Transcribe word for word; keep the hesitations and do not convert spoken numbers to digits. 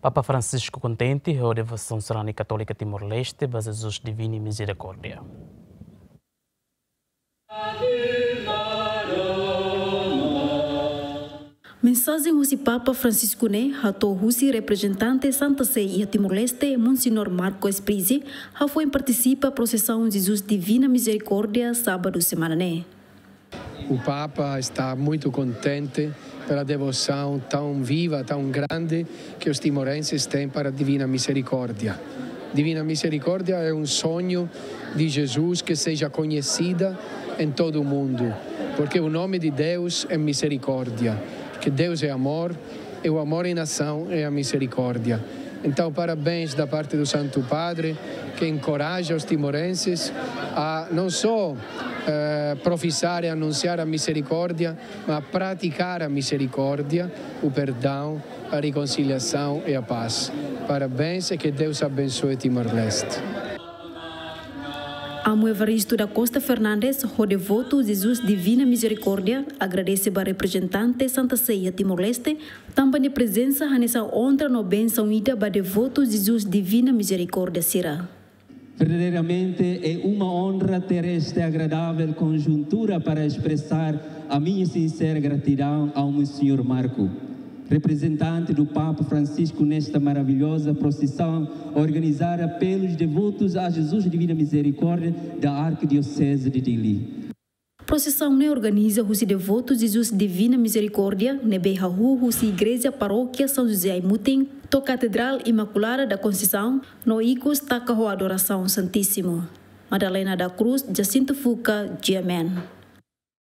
Papa Francisco kontente ho devosaun sarani katólika Timor-Leste ba Jesus Divina Mizerikórdia. Mensajen husi Papa Francisco ne'e hato'o husi reprezentante Santa Sé iha Timor-Leste, Monseñór Marco Esprizi, hafoin partisipa prosesaun Jesus Divina Mizerikórdia, sábadu semana ne'e. O Papa está muito contente pela devoção tão viva, tão grande que os timorenses têm para a Divina Misericórdia. Divina Misericórdia é um sonho de Jesus que seja conhecida em todo o mundo, porque o nome de Deus é misericórdia, que Deus é amor, e o amor em ação é a misericórdia. Então, parabéns da parte do Santo Padre, que encoraja os timorenses a não só eh, professar e anunciar a misericórdia, mas praticar a misericórdia, o perdão, a reconciliação e a paz. Parabéns e que Deus abençoe Timor-Leste. Amu Evaristo da Costa Fernandes, ho devotu Jesus Divina Mizerikórdia, agradese ba reprezentante Santa Sé iha Timor-Leste, tanba nia prezensa hanesan onra no bensaun ida ba devotu Jesus Divina Mizerikórdia sira. Verdadeiramente é uma honra ter esta agradável conjuntura para expressar a minha sincera gratidão ao Monsenhor Marco, representante do Papa Francisco nesta maravilhosa procissão organizada pelos devotos a Jesus Divina Misericórdia da Arquidiocese de Dili. Prosesaun ne'e organiza husi devotu Jesus Divina Mizerikórdia, ne'ebé hahú husi Igreja Parókia São José Aimutin, to'o Katedrál Imaculada da Conceição, no ikus taka ho adorasaun Santísimu. Madalena da Cruz, Jacinto Fuca, G M N.